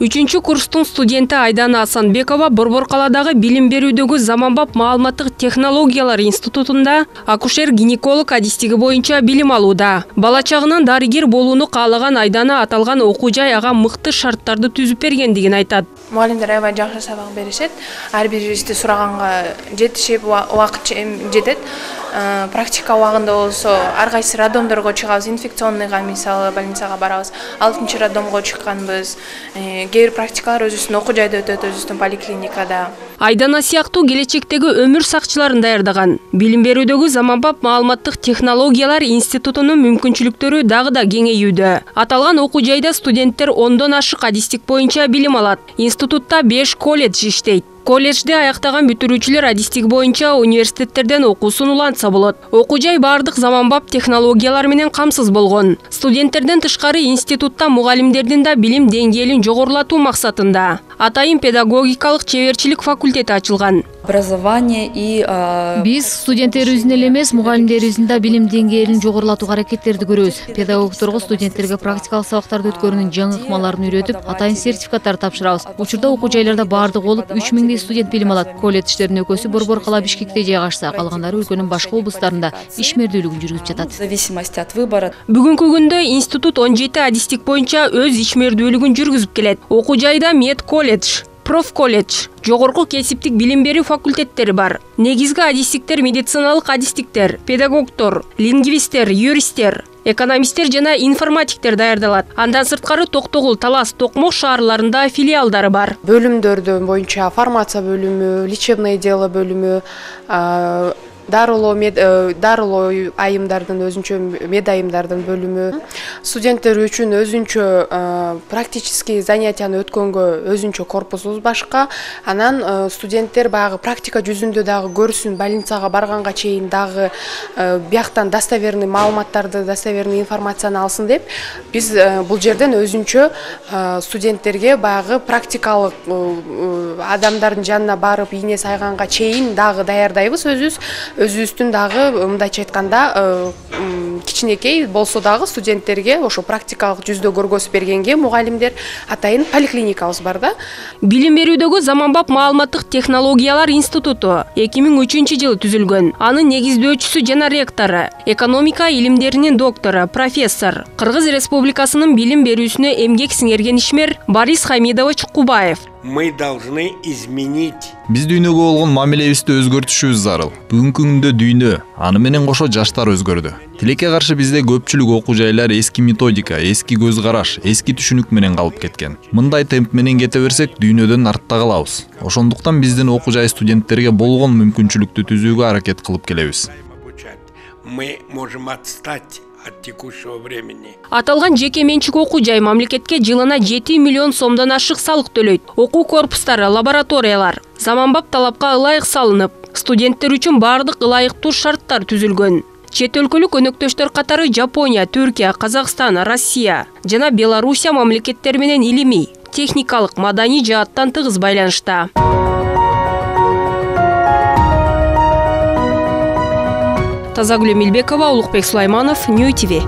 3 курстун студенти Айдана Асанбекова Борбор калаадагы билим берүүдөгү заманбап маалыматтык технологиялар институтунда акушер-гинеколог адистиги боюнча билим алууда. Бала чагынан дарыгер болууну каалаган Айдана аталган окуу жай ага мыкты шарттарды түзүп бергендигин айтат. Мугалимдер аябай жакшы сабак беришет. Ар бирибизди сураганга жетишип, убакыт жетет. Практика убагында болсо ар кайсы роддомдорго чыгабыз, инфекционныйга мисалы больницага барабыз. 6-чы роддомго чыкканбыз. Кээ бир практикалар өзүбүздүн окуу жайда өтөт, өзүбүздүн поликлиникада. Айдана сыяктуу келечектеги өмүр сакчыларын даярдаган билим берүүдөгү заманбап маалыматтык технологиялар институтунун мүмкүнчүлүктөрү дагы да кеңейүүдө. Аталган окуу жайда студенттер 10дон ашык адистик боюнча билим алат. Институтта 5 колледж иштейт. Колледжде аяктаган бүтүрүүчүлөр адистик боюнча университеттерден окуусун улантса болот. Окуу жай бардык заманбап технологиялар менен камсыз болгон. Студенттерден тышкары институтта мугалимдердин да билим деңгээлин жогорулатуу максатында атайын педагогикалык чеберчилик факультети ачылган. Биз студенттерибиздин эле эмес, мугалимдерибиздин да билим деңгээлин жогорулатууга аракеттерди көрөбүз. Педагогдорго студенттерге практикалык сабактарды өткөрүүнүн жаңы ыкмаларын үйрөтүп, атайын сертификаттар тапшырабыз. Учурда окуу жайларда баардыгы болуп 3000 студент билим алат. Колледждердин экөөсү Борбор кала Бишкекте жайгашса, калгандары өлкөнүн башка облустарында ишмердүүлүгүн жүргүзүп жатат. Бүгүнкү күндө институт 17 адистик боюнча өз ишмердүүлүгүн жүргүзүп келет. Окуу жайда мед колледж, проф колледж, жогорку кесиптик билим берүү факультеттери бар. Негизги адистиктер медициналык адистиктер, педагогдор, лингвисттер, юристтер, экономисттер жана информатиктер даярдалат. Андан сырткары Токтогул, Талас, Токмок шаарларында филиалдары бар. Бөлүмдөрдөн боюнча фармация бөлүмү, лечебное дело бөлүмү, дарылоо айымдардын өзүнчө мед айымдардын бөлүмү, студенттер үчүн өзүнчө практический занятияны өткөнгө өзүнчө корпусубуз башка. Анан студенттер баягы практика жүзүндө дагы көрсүн, больницага барганга чейин дагы бияктан достоверный маалыматтарды, достоверный информацияны алсын деп, биз бул жерден өзүнчө студенттерге баягы практикалык адамдардын жанына барып, ийне сайганга чейин дагы даярдайбыз өзүбүздүн дагы мындайча айтканда кичинекей болсо дагы студенттерге ошо практикалык жүздө көргөзүп бергенге мугалимдер атайын поликлиникабыз бар да. Билим берүүдөгү заманбап маалыматтык технологиялар институту 2003-жылы түзүлгөн. Анын негиздөөчүсү жана ректору, экономика илимдеринин доктору, профессор, Кыргыз Республикасынын билим берүүсүнө эмгек сиңерген ишмер Борис Хамидович Кубаев. Мы должны изменить. Биз дүйнөгө болгон мамилебизди өзгөртүшүбүз зарыл. Бүгүнкү күндө дүйнө, аны менен кошо жаштар өзгөрдү. Тилекке каршы бизде көпчүлүк окуу жайлар эски методика, эски көз караш, эски түшүнүк менен калып кеткен. Мындай темп менен кете берсек, дүйнөдөн артта калабыз. Ошондуктан биздин окуу жай студенттерге болгон мүмкүнчүлүктү түзүүгө аракет кылып келебиз. Мы можем отстать от текущего времени. Аталган жеке менчик окуу жай мамлекетке жылына 7 миллион сомдон ашык салык төлөйт. Окуу корпустары, лабораториялар заманбап талапка ылайык салынып, студенттер үчүн бардык ылайыктуу шарттар түзүлгөн. Чет өлкөлүк өнөктөштөр катары Жапония, Түркия, Казакстан, Россия жана Белоруссия мамлекеттери менен илимий, техникалык, маданий жааттан тыгыз байланышта. Тазагүл Эмилбекова, Улукбек Сулайманов, Нью ТВ.